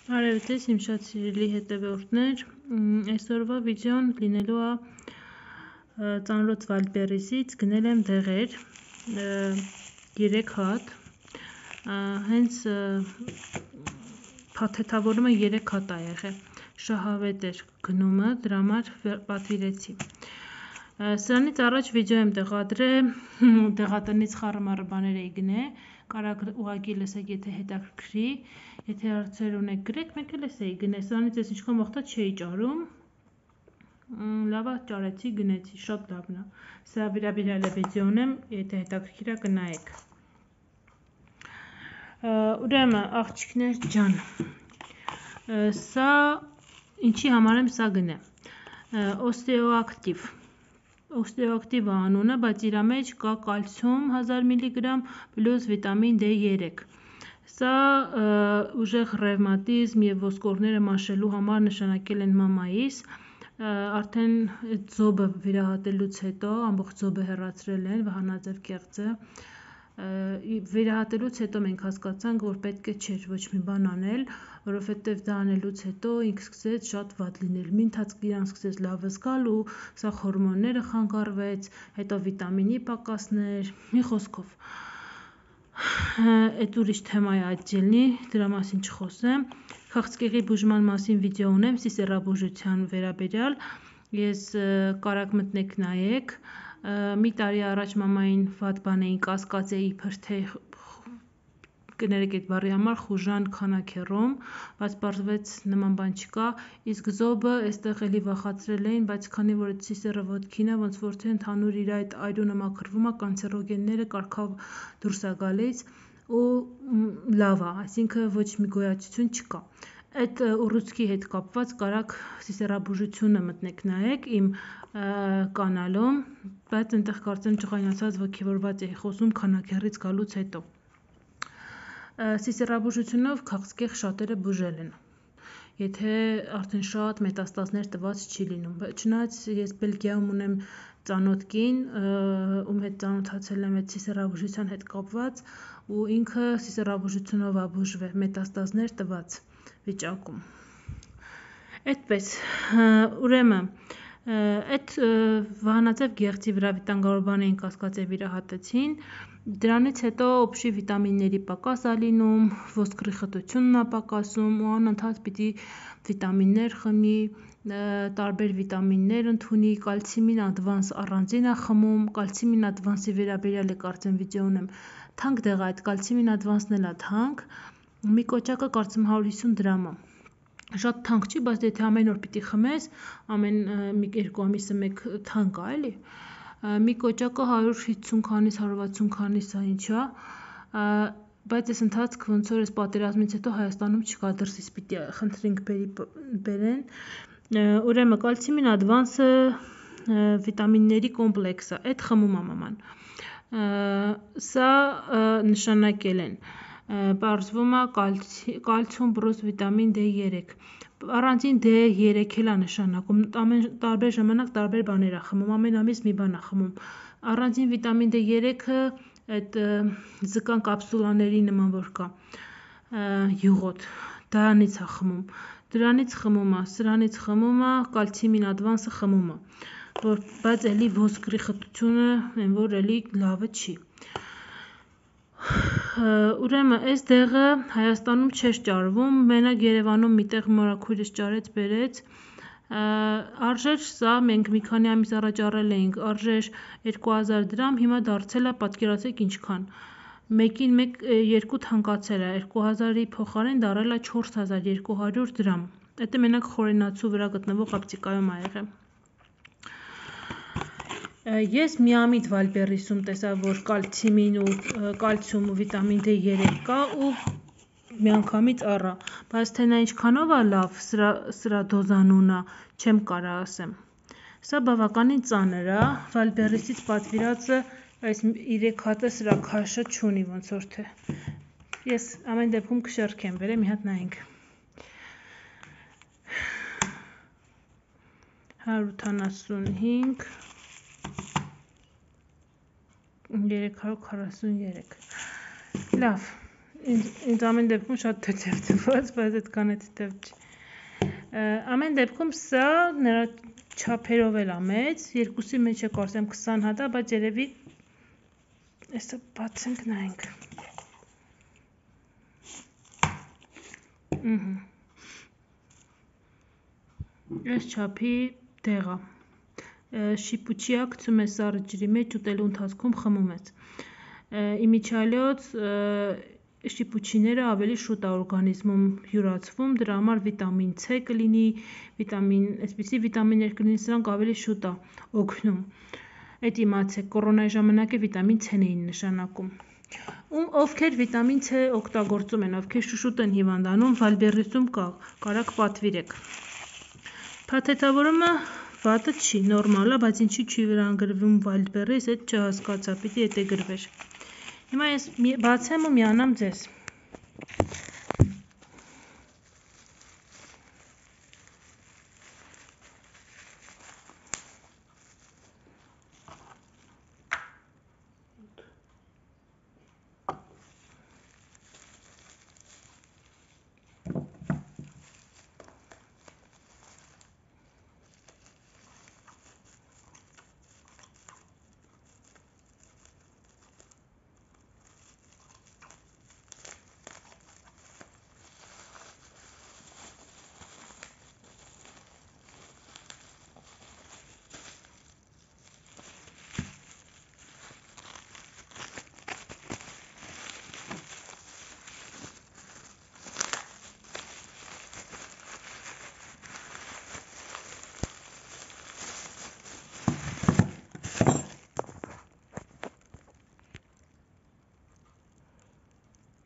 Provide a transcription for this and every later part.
Արև ձեզ իմ շատ սիրելի հետևորդներ, այսօրվա վիդեոն լինելու է ծանրոց Վալդբերրիսից գնել եմ դեղեր 3 հատ, հենց փաթեթավորումը 3 հատ է եղել, շահավետ էր գնումը, դրա համար պատվիրեցի։ Սրանից առաջ վիդեո եմ տեղադրել, դեղատնից խառը բաներ էի գնե, կարաք ուղղակի լսեք, եթե հետաքրքրի, եթե հարցեր ունեք գրեք, մեկ էլ էս էի գնե, սրանից ես ինչքան վաղտած չէի ճարում, լավա ճարեցի, գնեցի, շատ լավն է, սա վերաբերյալ է վիդեոն եմ, եթե հետաքրքիր է կնայեք։ Ուրեմն աղջիկներ ջան, սա ինչի համար եմ սա գնեմ, Օստեոակտիվ անունը, բայց իր մեջ կա կալցիում 1000 մգ պլյուս վիտամին D3։ Սա ուժեղ ռևմատիզմ և ոսկորները մաշելու համար նշանակել են մամայիս, արդեն ձոբը վիրահատելուց հետո, ամբողջ ձոբը հեռացրել են, վահանաձև կեղծը, վիրահատելուց հետո մենք հասկացանք, որ պետք է չէր ոչ մի բան անել, որովհետև դա անելուց հետո ինքը սկսեց շատ վատ լինել, մի ընթացք իրան սկսեց լավը զգալ ու սա հորմոնները խանգարվեց, հետո վիտամինի պակասներ, մի խոսքով, այդ ուրիշ թեմա է այտելնի, դրա մասին չխոսեմ, քաղցկեղի բուժման մասին վիդեո ունեմ, սիսեռաբուժության վերաբերյալ, ես կարաք մտնեք նայեք, մի տարի առաջ մամային վատ բան էին կասկածեի իբր թե կներեք այդ բառի համար խուժան քանաքեռում, բայց պարզվեց նման բան չկա, իսկ զոբը այստեղ էլի վախացրել էին, բայց քանի որ այդ սիսեռը ոտքին է, ոնց որ թե ընդհանուր իր այդ այրունը մաքրվում է, կանցերոգենները կարգավ դուրս է գալիս ու լավ է, այսինքն ոչ մի գոյացություն չկա։ Այդ ուռուցքի հետ կապված կարաք սիսեռաբուժությունը մտնեք նայեք իմ կանալում, բայց այնտեղ կարծեմ ջղայնացած ոգևորված էի խոսում քանաքեռից գալուց հետո։ Սիսեռաբուժությունով քաղցկեղ շատերը բուժել են, եթե արդեն շատ մետաստազներ տված չի լինում, չնայած ես Բելգիայում ունեմ ծանոթ կին, ում հետ ծանոթացել եմ այդ սիսեռաբուժության հետ կապված ու ինքը սիսեռաբուժությունով է բուժվել մետաստազներ տված վիճակում։ Այդպես, ուրեմն, այդ վահանաձև գեղձի վրա վիտանգարորբան էին կասկածե վիրահատեցին, դրանից հետո օբշի վիտամինների պակաս է լինում, ոսկրի խտությունն է պակասում ու անընդհատ պիտի վիտամիններ խմի, տարբեր վիտամիններ ընդունի, կալցիմին ադվանս առանձին է խմում, կալցիմին ադվանսի վերաբերյալ է կարծեմ վիդեո ունեմ, թանկ դեղ է այդ կալցիմին ադվանսն էլ է թանկ, մի կոճակը կարծեմ 150 դրամ է, շատ թանկ չի, բայց եթե ամեն օր պիտի խմես, ամեն 2 ամիսը մեկ թանկ է էլի, մի կոճակը 150 քանիս, 160 քանիս է ինչ է, բայց այս ընթացք ոնց որ այս պատերազմից հետո Հայաստանում չկա, դրսից պիտի խնդրենք բերեն, ուրեմն կալցիմին ադվանսը վիտամինների կոմպլեքս է, այդ խմում է մաման, սա նշանակել են, պարզվում է կալցիում պլյուս վիտամին D3, առանձին D3 էլ է նշանակում, տարբեր ժամանակ տարբեր բաներ է խմում, ամեն ամիս մի բան է խմում, առանձին վիտամին D3-ը այդ զկան կապսուլաների նման որ կա, յուղոտ, դրանից է խմում, դրանից խմում է, սրանից խմում է, կալցիմին ադվանսը խմում է, բայց էլի ոսկրի խտությունը են որ էլի լավը չի։ Ուրեմն այս դեղը Հայաստանում չէր ճարվում, մենակ Երևանում միտեղ մորաքույրս ճարեց բերեց, արժեր սա մենք մի քանի ամիս առաջ առել էինք, արժեր 2000 դրամ, հիմա դարձել է պատկերացրեք ինչքան, մեկին մեկ 2 թանկացել է, 2000-ի փոխարեն դարել է 4200 դրամ, դա մենակ խորենացու վրա գտնվող ապտիկայում է եղել։ Ես միամիտ Վալդբերրիսում տեսա, որ կալցիում ու վիտամին D3 կա ու միանգամից առա, բայց թե նա ինչքանով է լավ, սրա դոզանունը չեմ կարա ասեմ։ Սա բավականին ծանր է, Վալդբերրիսից պատվիրածը այս 3 հատը սրա քաշը չունի ոնց որ թե։ Ես ամեն դեպքում կշեռքեմ, վերեմ մի հատ նայենք։ 185 343 լավ, ինձ ամեն դեպքում շատ թեթև թվաց, բայց այդքան է թեթև չի։ Ամեն դեպքում սա նրա չափերով էլ է մեծ, երկուսի մեջ է կարծեմ 20 հատ է, բայց երևի այսը բացենք նայենք։ Այս չափի դեղ է։ Շիպուչիա գցում ես սառը ջրի մեջ, ուտելու ընթացքում խմում ես։ Իմիջիալոց շիպուչիները ավելի շուտ է օրգանիզմում յուրացվում, դրա համար վիտամին C կլինի, այսպիսի վիտամիններ կլինի, սրանք ավելի շուտ է օգնում։ Այդ իմացեք, կորոնայի ժամանակ է վիտամին C-ն էին նշանակում։ Ովքեր վիտամին C օգտագործում են, ովքեր շուշուտ են հիվանդանում, վալբերրիսում կա, կարաք պատվիրեք։ Փաթեթավորումը վատը չի, նորմալ է, բայց ինչի չի վրան գրվում վալբերրիս, այդ չհասկացա, պիտի էդ է գրվեր։ Հիմա ես բացեմ ու միանամ ձեզ։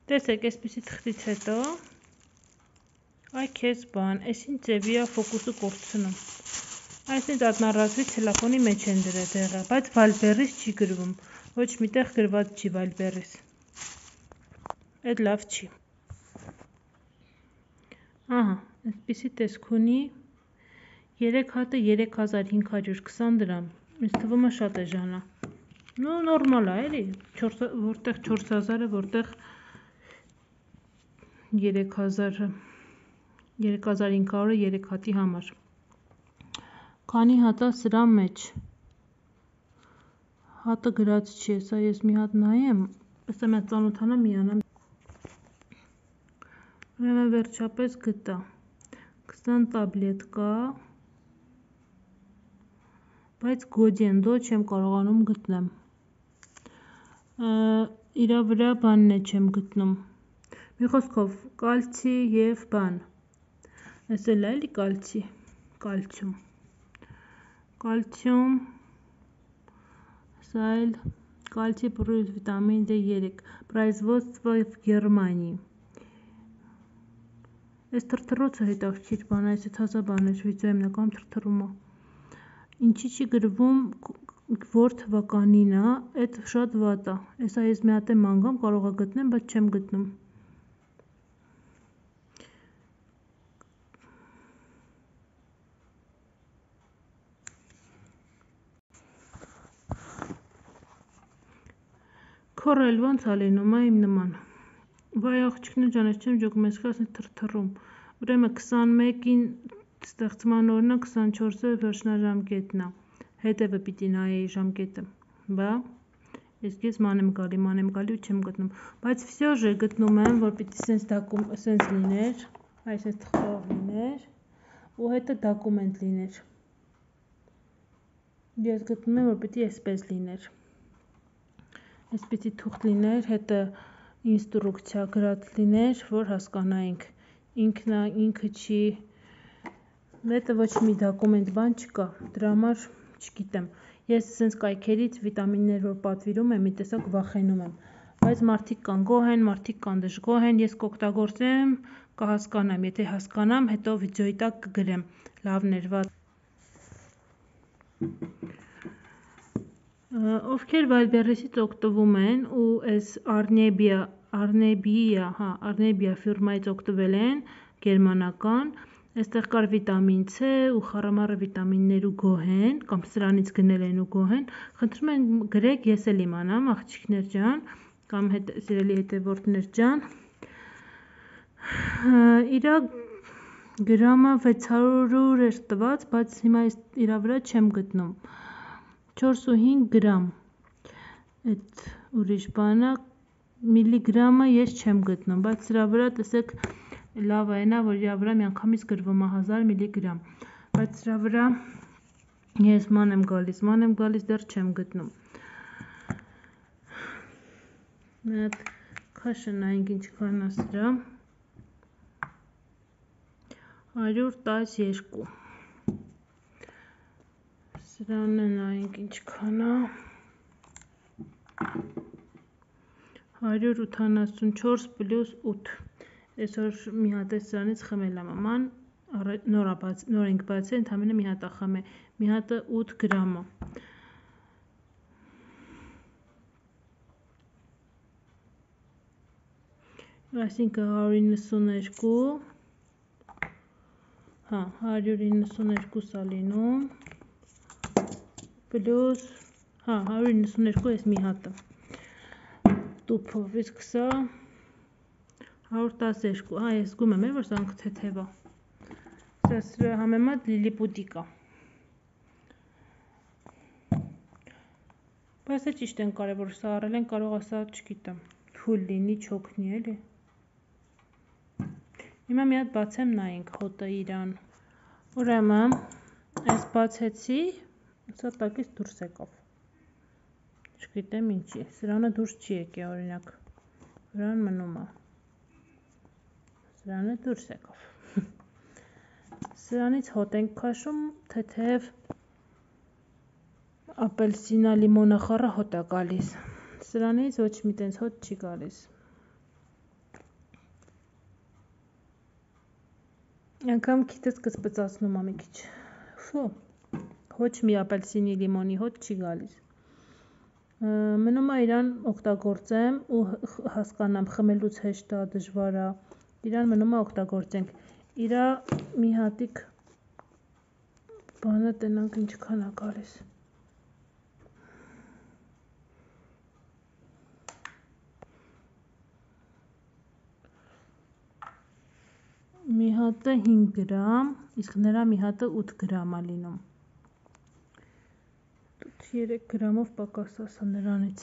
Տեսեք, այսպիսի թղթից հետո, այ քեզ բան, այսին ձևի է ֆոկուսը կորցնում։ Այսինչ ակնառատվի թելեֆոնի մեջ են դրել դեղը, բայց վալբերրիս չի գրվում, ոչ միտեղ գրված չի վալբերրիս։ Այդ լավ չի։ Ահա, այսպիսի տեսք ունի, 3 հատը 3520 դրամ, ինձ թվում է շատ է ժանա։ Ну, նորմալ է, էլի, որտեղ 4000-ը, որտեղ 3500-ը 3 հատի համար։ Քանի հատա սրա մեջ։ Հատը գրած չի, սա ես մի հատ նայեմ, ըստ եմ ծանոթանամ միանամ։ Ուրեմն վերջապես գտա 20 տաբլետկա, բայց գոդիենդո չեմ կարողանում գտնեմ։ Իրա վրա բանն է չեմ գտնում։ Մի խոսքով, կալցի և բան։ Այս էլ է էլի կալցի, կալցիում։ Կալցիում, սա էլ կալցի պլյուս վիտամին D3, производство в Германии։ Այս թրթռոցը հետաքրքիր բան, այս հազա բան է, վիդեո եմ նկարում թրթռումը։ Ինչի չի գրվում, որ թվականին է, այդ շատ վատ է։ Այսա ես մի հատ եմ անգամ կարող է գտնեմ, բայց չեմ գտնում։ Քորել ոնց է լինում, իմ նման։ Վայ աղջիկներ ջան, ես չեմ ջոկում, ես ասես թրթռում։ Ուրեմն 21-ին ստեղծման օրն է, 24-ը վերջնաժամկետն է։ Հետևը պիտի նայեի ժամկետը։ Բա ես մանեմ գալի ու չեմ գտնում։ Բայց վсё же գտնում եմ, որ պիտի սենց լիներ, այս թղթով լիներ, ու հետը դոկումենտ լիներ։ Ես գտնում եմ, որ պիտի այսպես լիներ։ Այսպիսի թուղթ լիներ, հետը ինստրուկցիա գրած լիներ, որ հասկանայինք, ինքը չի, հետը ոչ մի դոկումենտ բան չկա, դրա համար չգիտեմ, ես սենց կայքերից վիտամիններ, որ պատվիրում եմ, մի տեսակ վախենում եմ, բայց մարդիկ կան գոհ են, մարդիկ կան դժգոհ են, ես կօգտագործեմ, կհասկանամ, եթե հասկանամ, հետո վիդեոյի տակ կգրեմ, լավն էր, վատ։ Ովքեր վալբերրիսից օգտվում են ու այս Arnebia ֆիրմայից օգտվել են, գերմանական, այստեղ կար վիտամին C ու խառամառը վիտամիններ ու գոհ են, կամ սրանից գնել են ու գոհ են, խնդրում են գրեք, ես էլ իմանամ, աղջիկներ ջան, կամ սիրելի հետևորդներ ջան, Իրա գրամը 600 էր տված, բայց հիմա իրա վրա չեմ գտնում։ 4.5 գրամ, այդ ուրիշ բանը, միլիգրամը ես չեմ գտնում, բայց սրա վրա տեսեք լավ այնա, որ իրա վրա միանգամից գրվում է 1000 միլիգրամ, բայց սրա վրա ես ման եմ գալիս, դեռ չեմ գտնում։ Մի հատ քաշը նայենք ինչքան է սրա, 112, սրանը նայենք ինչքան է, 184 պլյուս 8, այսօր մի հատ է սրանից խմել եմ աման, նոր ենք բացել, ընդամենը մի հատ է խմել, մի հատը 8 գրամ է։ Այսինքն 192 է լինում, պլյուս, 192 ես մի հատը, տուփով, իսկ սա 112, ես զգում եմ, որ սրանք թեթև է, սա սրա համեմատ լիլիպուտիկ է, բայց է ճիշտ են կարևոր, սա առել են, կարող է սա չգիտեմ, թույլ լինի, չոքնի էլի, հիմա մի հատ բացեմ նայենք հոտը իրան, ուրեմն, այս բացեցի, սա տակից դուրս եկավ, չգիտեմ ինչի, սրանը դուրս չի եկե օրինակ, վրան մնում է, սրանը դուրս եկավ, սրանից հոտ ենք քաշում, թեթև ապելսինա լիմոնախառը հոտ է գալիս, սրանից ոչ մի տենց հոտ չի գալիս, անգամ քիթս կսպծացնում է մի քիչ, ոչ մի ապելսինի լիմոնի հոտ չի գալիս, մնում է իրան օգտագործեմ ու հասկանամ խմելուց հեշտ է, դժվար է, իրան մնում է օգտագործենք, իրա մի հատիկ բանը տնանք ինչքան է գալիս, մի հատը 5 գրամ, իսկ նրա մի հատը 8 գրամ է լինում, 3 գրամով պակաս ասա նրանից,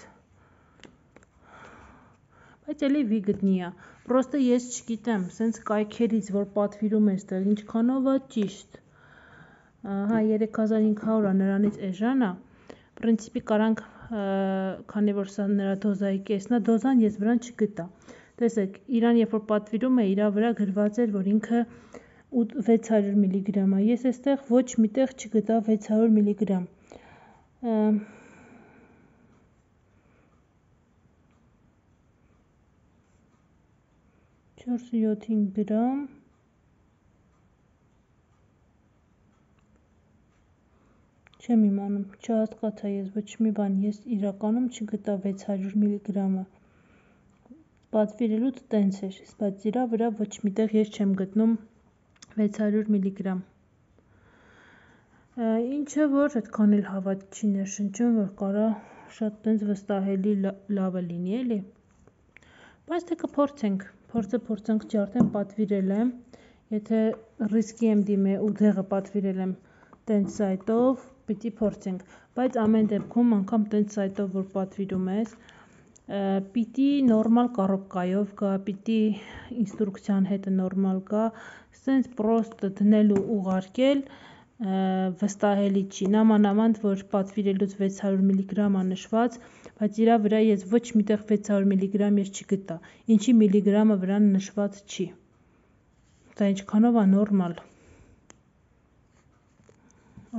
բայց էլի վիգտնի է, պրոստը ես չգիտեմ, սենց կայքերից, որ պատվիրում է ստեղ, ինչքանով է ճիշտ, 3500 է նրանից էժան է, պրինցիպի կարանք, քանի որ սա նրա դոզայի կեսն է, դոզան ես վրան չգտա, տեսեք, իրան երբ որ պատվիրում է, իրա վրա գրված էր, որ ինքը 600 միլիգրամ է, ես էստեղ ոչ միտեղ չգտա 600 միլիգրամ, 4-7 գրամ, չեմ իմանում, չհասկացա ես ոչ մի բան, ես իրականում չգտա 600 միլիգրամը, պատվիրելուց տենց էր, բայց իրա վրա ոչ միտեղ ես չեմ գտնում 600 միլիգրամ, ինչը որ այդքան էլ հավատ չի ներշնչում, որ կարա շատ տենց վստահելի լավը լինի էլի, բայց թե կփորձենք, փորձենք ջարդեմ, պատվիրել եմ, եթե ռիսկի եմ դիմե ու դեղը պատվիրել եմ տենց սայտով, պիտի փորձենք, բայց ամեն դեպքում անգամ տենց սայտով, որ պատվիրում ես, պիտի նորմալ կառոպկայով գա, պիտի ինստրուկցիան հետը նորմալ գա, սենց պրոստ դնել ու ուղարկել, վստահելի չի, նամանավանդ, որ պատվիրելուց 600 միլիգրամ է նշված, բայց իրա վրա ես ոչ միտեղ 600 միլիգրամ ես չգտա, ինչի միլիգրամը վրան նշված չի, դա ինչքանով է նորմալ,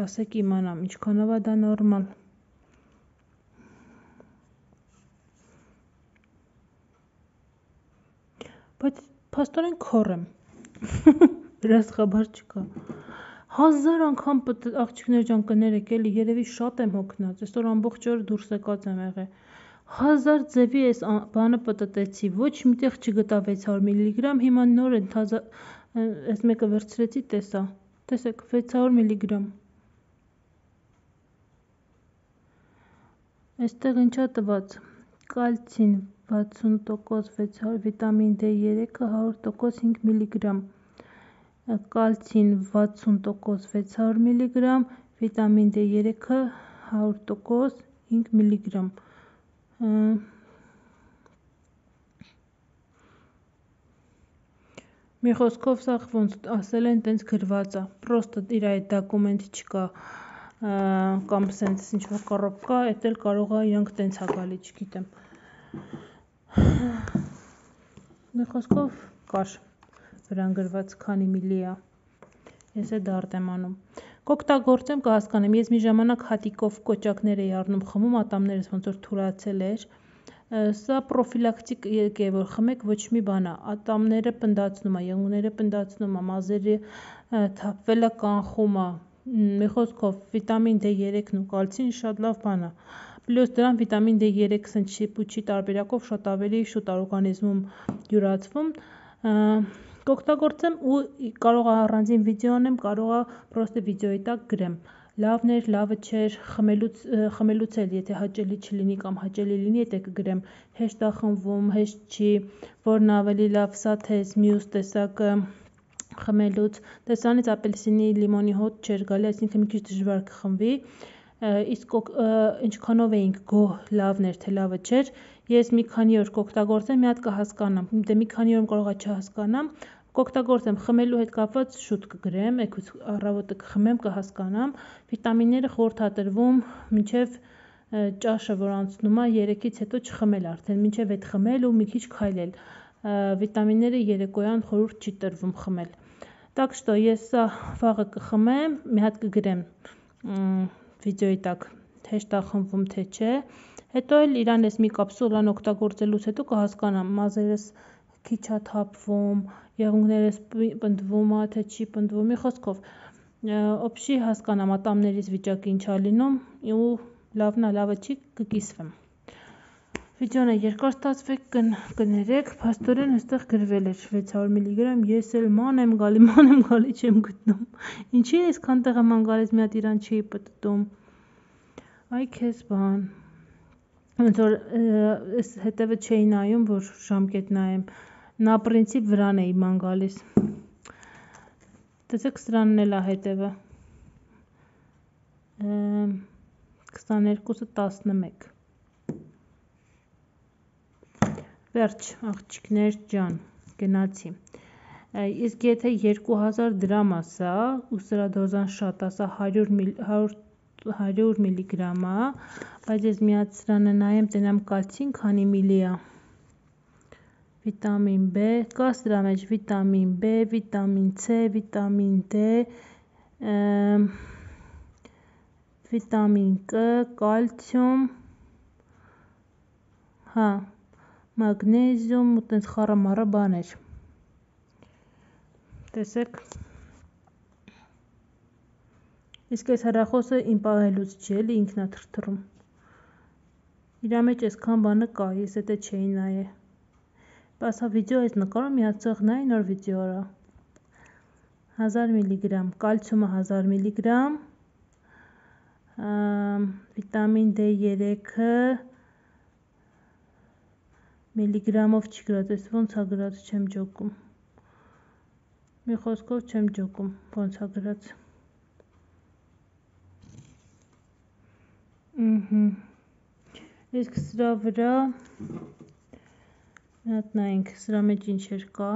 ասեք իմանամ, ինչքանով է դա նորմալ, բայց փաստորեն քոր եմ, հրասխաբար չկա, 1000 անգամ աղջիկներ ջան կներեք էլի, երևի շատ եմ հոգնած, այսօր ամբողջ օր դուրս եկած եմ եղել, 1000 ձևի այս բանը պտտեցի, ոչ միտեղ չգտա 600 միլիգրամ, հիմա նոր են այս մեկը վերցրեցի, տեսա, տեսեք 600 միլիգրամ, այստեղ ինչա տված, կալցին, 60%, վիտամին D3-ը 100% 5 մգ, կալցին 60%, 600 մգ, վիտամին D3-ը 100% 5 մգ։ Մի խոսքով սա ոնց ասել են տենց գրված է, պրոստը իր այդ դոկումենտ չկա, կամ սենց ինչ-որ կռոպ կա, էդ էլ կարող է իրանք տենց է գալի, չգիտեմ։ Մի խոսքով կար վրան գրված քանի միլի է, ես է դարդ եմ անում։ Կօգտագործեմ կհասկանեմ, ես մի ժամանակ հատիկով կոճակներ էի առնում խմում, ատամներս ոնց որ թուլացել էր, սա պրոֆիլակտիկ է, որ խմեք, ոչ մի բան է, ատամները պնդացնում է, եղունգները պնդացնում է, մազերը թափվել է կանխում է, մի խոսքով վիտամին D3-ն ու կալցին շատ լավ բան է, պլյուս դրան վիտամին D3 սնչի պուչի տարբերակով շատ ավելի շուտ է օրգանիզմում յուրացվում, կօգտագործեմ ու կարող է առանձին վիդեո անեմ, կարող է պրոստը վիդեոյի տակ գրեմ, լավն էր, լավը չէր, խմելուց էլ, եթե հաճելի չլինի կամ հաճելի լինի, եթե կգրեմ, հեշտ է խմվում, հեշտ չի, որն ավելի լավ, սա թե մյուս տեսակը խմելուց, տեսանից ապելսինի, լիմոնի հոտ չէր գալի, այսինքն մի քիչ դժվար կխմվի, իսկ ինչքանով էինք գոհ լավն էր, թե լավը չէր, ես մի քանի օր կօգտագործեմ, մի հատ կհասկանամ, դե մի քանի օր կարող է չհասկանամ, կօգտագործեմ, խմելու հետ կապված շուտ կգրեմ, էգուց առավոտը կխմեմ, կհասկանամ, վիտամինները խորհրդատրվում մինչև ճաշը, որ անցնում է, 3-ից հետո չխմել արդեն, մինչև այդ խմել ու մի քիչ քայլել, վիտամինները երեկոյան խորհուրդ չի տրվում խմել, так что ես սա վաղը կխմեմ, մի հատ կգրեմ վիդեոյի տակ, հեշտ է խմվում թե չէ, հետո էլ իրան ես մի կապսուլան օգտագործելուց հետո կհասկանամ, մազերս քիչ է թափվում, եղունգներս պնդվում է, թե չի պնդվում, մի խոսքով, օբշի հասկանամ ատամներիս վիճակը ինչ է լինում ու լավն է, լավը չի, կկիսվեմ։ Վիդեոն է երկար ստացվեք, կներեք, փաստորեն այստեղ գրվել էր 600 մգ, ես էլ ման եմ գալի, չեմ գտնում, ինչի է այսքան տեղ եմ անգալիս, մի հատ իրան չի պտտում, այ քեզ բան, ոնց որ հետևը չէի նայում, որ ժամկետ նայեմ, նա պրինցիպ վրան էի ման գալիս, տեսեք սրանն էլ է հետևը, 22-ը 11, վերջ աղջիկներ ջան, գնացի, իսկ եթե 2000 դրամ ասա, ու սրա դոզան շատ ասա 100 մգ է, բայց ես մի հատ սրանը նայեմ, տենամ կալցին քանի միլի է, վիտամին B, կա սրա մեջ վիտամին B, վիտամին C, վիտամին D, վիտամին K, կալցիում, հա, մագնեզիում ու տենց խառը մառը բաներ, տեսեք, իսկ այս հեռախոսը իմ պահելուց չի, էլի ինքն է թրթռում, իրա մեջ այսքան բանը կա, ես էտե չէի նայե, բասա վիդեո այս նկարում մի հատ ցող նայի նոր վիդեո արա, 1000 մգ, կալցիումը 1000 մգ, վիտամին D3-ը միլիգրամով չի գրած, ես ոնց է գրած, չեմ ջոկում, մի խոսքով չեմ ջոկում, ոնց է գրած, իսկ սրա վրա, մի հատ նայենք, սրա մեջ ինչեր կա,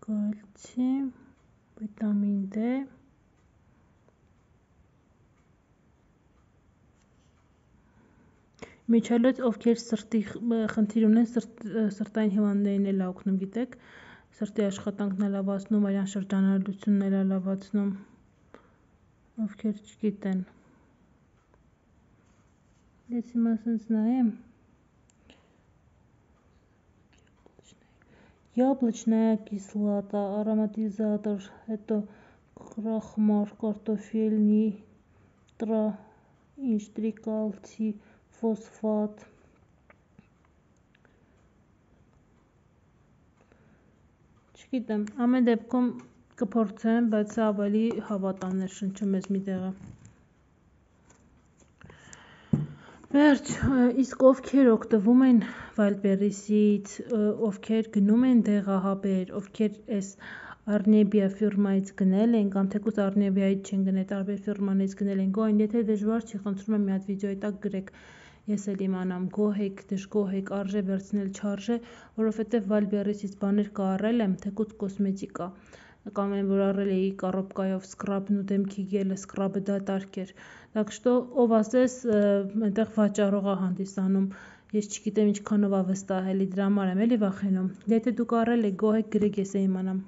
կալցի, վիտամին D, Միջալոց, ովքեր սրտի խնդիր ունեն, սրտային հիվանդներին էլ է օգնում, գիտեք, սրտի աշխատանքն է լավացնում, արյան շրջանառությունն էլ է լավացնում, ովքեր չգիտեն, ես հիմա սենց նայեմ, яблочная кислота, ароматизатор, հետո крахмал, картофельный, трикалций, ֆոսֆատ, չգիտեմ, ամեն դեպքում կփորձեմ, բայց սա ավելի հավատան է շնչում ես մի տեղը, Վերջ, իսկ ովքեր օգտվում են Wildberries-ից, ովքեր գնում են դեղահաբեր, ովքեր այս Arnebia ֆիրմայից գնել են, կամ թեկուզ Arnebia-ից չեն գնել, տարբեր ֆիրմանից գնել են, գոհ են, եթե դժվար չի, խնդրում եմ մի հատ վիդեոյի տակ գրեք, ես էլ իմանամ, գոհ եք, դժգոհ եք, արժե վերցնել, չարժե, որովհետև Wildberries-ից բաներ կա առել եմ, թեկուզ կոսմետիկա, կամ այն որ առել էի կառոպկայով սկրաբն ու դեմքի գելը, սկրաբը դատարկ էր, так что ով ասես այնտեղ վաճառող է հանդիսանում, ես չգիտեմ ինչքանով է վստահելի, դրա համար եմ էլի վախենում, եթե դուք առել եք, գոհ եք, գրեք, ես է իմանամ։